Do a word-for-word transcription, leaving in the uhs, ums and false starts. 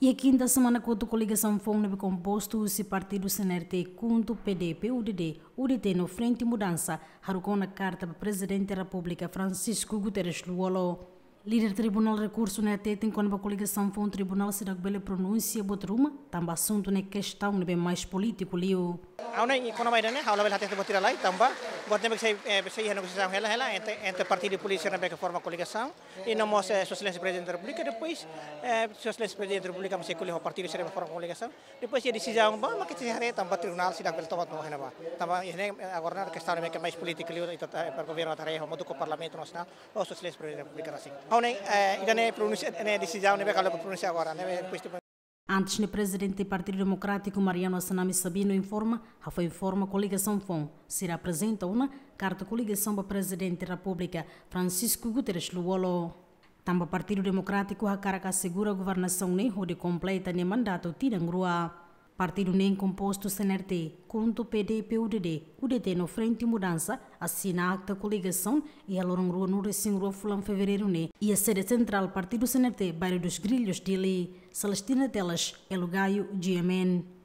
Iha kinta semana kotuk, koligasaun foun ne'ebé kompostu husi partidu C N R T, KHUNTO, P D, P U D D, U D T no Frente Mudansa haruka ona karta ba Prezidente Repúblika Francisco Guterres Lú-Olo. Líder Tribunál Rekursu ne'e hateten kona-ba koligasaun foun, tribunál seidauk bele pronunsia buat ruma, tanba asuntu ne'e kestaun ne'ebé mais polítiku liu. Agora, kona-ba ida-ne'e, ha'u labele hatete buat ida lai, tanba buat ne'e sei, eh, sei iha negosiasaun hela, hela entre, entre partidu polítiku ne'ebé ke forma koligasaun, i no mós, eh, Sua Exelénsia Prezidente da Repúblika, depois, eh, Sua Exelénsia Prezidente da Repúblika mós sei ko'alia ho partidu sira ne'ebé forma koligasaun, depois iha desizaun ba, mak ita sei haree, tanba tribunál seidauk bele toma buat ruma ne'ebá. Tanba iha ne'e, eh, agora ne'e kestaun ne'ebé ke mais polítiku liu, ita, eh, para governu atu haree, hamutuk ho Parlamentu Nasionál, ho Sua Exelénsia Prezidente da Repúblika rasik. Ha'u ne'e, eh, ida-ne'e pronunsia, ne'e desizaun ne'ebé ke atu pronunsia agora, ne'ebé depois de Antes ne'e, Prezidente Partidu Demokrátiku Mariano Assanami Sabino informa, hafoin forma koligasaun foun, sira aprezenta ona karta koligasaun ba Prezidente Repúblika Francisco Guterres Lú-Olo. Tanba Partidu Demokrátiku hakarak asegura governasaun ne'e hodi kompleta nia mandatu tinan rua. Partidu neen kompostu C N R T, KHUNTO, P D, P U D D, U D T no Frente Mudansa asina akta koligasaun iha loron ruanulu-resin-rua fulan Fevereiru ne'e iha sede sentrál Partidu C N R T, Bairro dos Grilhos, Dili. Celestina Teles, Elo Gaio, G M N.